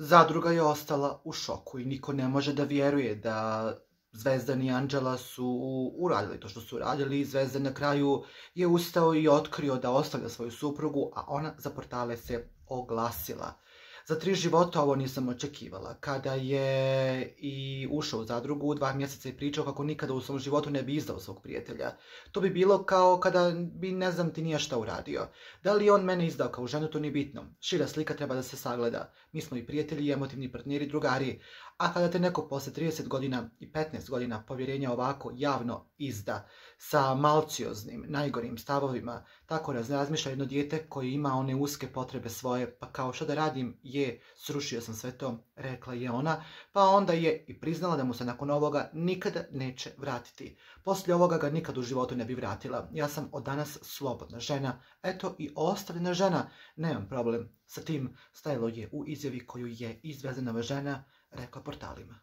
Zadruga je ostala u šoku i niko ne može da vjeruje da Zvezdan i Anđela su uradili to što su uradili. Zvezdan na kraju je ustao i otkrio da ostavlja svoju suprugu, a ona za portale se oglasila. Za 3 života ovo nisam očekivala. Kada je i ušao u zadrugu, 2 mjeseca je pričao kako nikada u svom životu ne bi izdao svog prijatelja. To bi bilo kao kada bi ne znam ti nije šta uradio. Da li on mene izdao kao ženu, to nije bitno. Šira slika treba da se sagleda. Mi smo i prijatelji, emotivni partneri, drugari. A kada te neko posle 30 godina i 15 godina povjerenja ovako javno izda, sa malcioznim, najgorim stavovima, tako razmišlja jedno dijete koje ima one uske potrebe svoje, pa kao što da radim, srušio sam sve to, rekla je ona, pa onda je i priznala da mu se nakon ovoga nikada neće vratiti. Poslije ovoga ga nikad u životu ne bi vratila. Ja sam od danas slobodna žena, eto i ostavljena žena, nemam problem sa tim, stajalo je u izjavi koju je Zvezdanova žena rekla portalima.